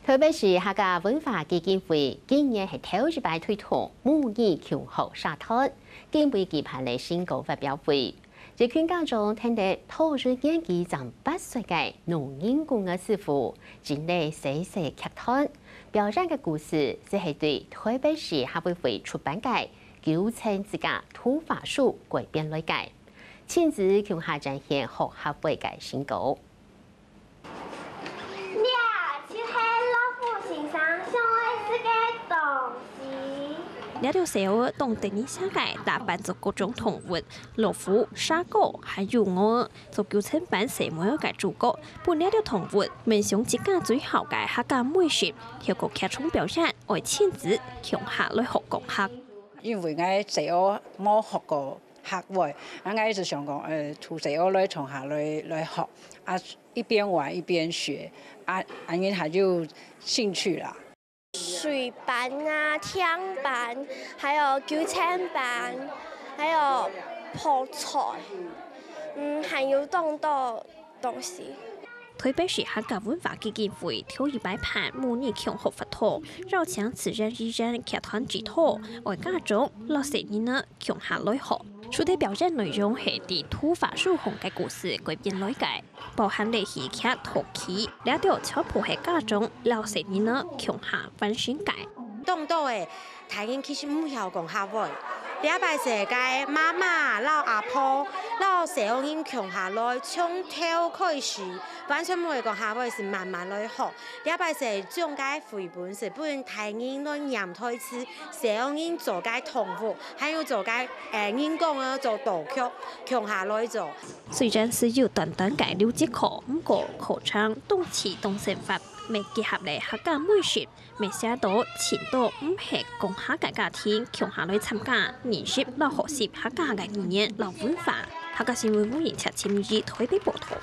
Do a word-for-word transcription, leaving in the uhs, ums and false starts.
臺北市客家文化基金會今年係頭一擺推動母語共學社團，今晡舉辦了成果發表會。一群家長聽得讀幼稚園正八歲个農人公个師傅，整理細細劇團，表演个故事就係對臺北市客委會出版个九層之家圖畫書改編來个，親子共下展現學客話个成果。 這就係老虎先生想愛食个東西。這兜細人仔當得人惜个，打扮做各種動物，老虎、蛇哥還有鵝，做九層粄細妹仔个主角，分這兜動物分享自家最好个客家美食，透過劇場表演，愛親子共下來學講客。因為𠊎細人仔無學過客話，啊，𠊎一直想講，呃，同細人仔來共下來，來學，啊，一邊玩一邊學，啊，恁樣佢就興趣啦。水粄啊、甜粄，還有九層粄，還有泡菜，嗯，還有當多東西。臺北市客家文化基金會頭一擺辦母語共學活動，邀請慈仁醫院劇團指導，愛家長摎細人仔共下來學。書个表演內容係對圖畫書項个故事改編來个，包含了戲劇、讀劇，這兜全部係家長摎細人仔共下完成个。當多个大人其實毋曉講客話，這擺係該媽媽摎阿婆摎細人仔共下來，從頭開始，完全毋會講客話，係慢慢來學。這擺係將該繪本係分大人來唸台詞，細人仔做該動物，還有做該，呃，人講个做道具，共下來做。雖然只有短短个六節課，毋過課程當趣當生活，乜結合了客家美食，乜吸引到盡多毋係講客个家庭共下來參加，認識摎學習客家个語言摎文化。客家新聞吳映慈、陳明儀臺北報導。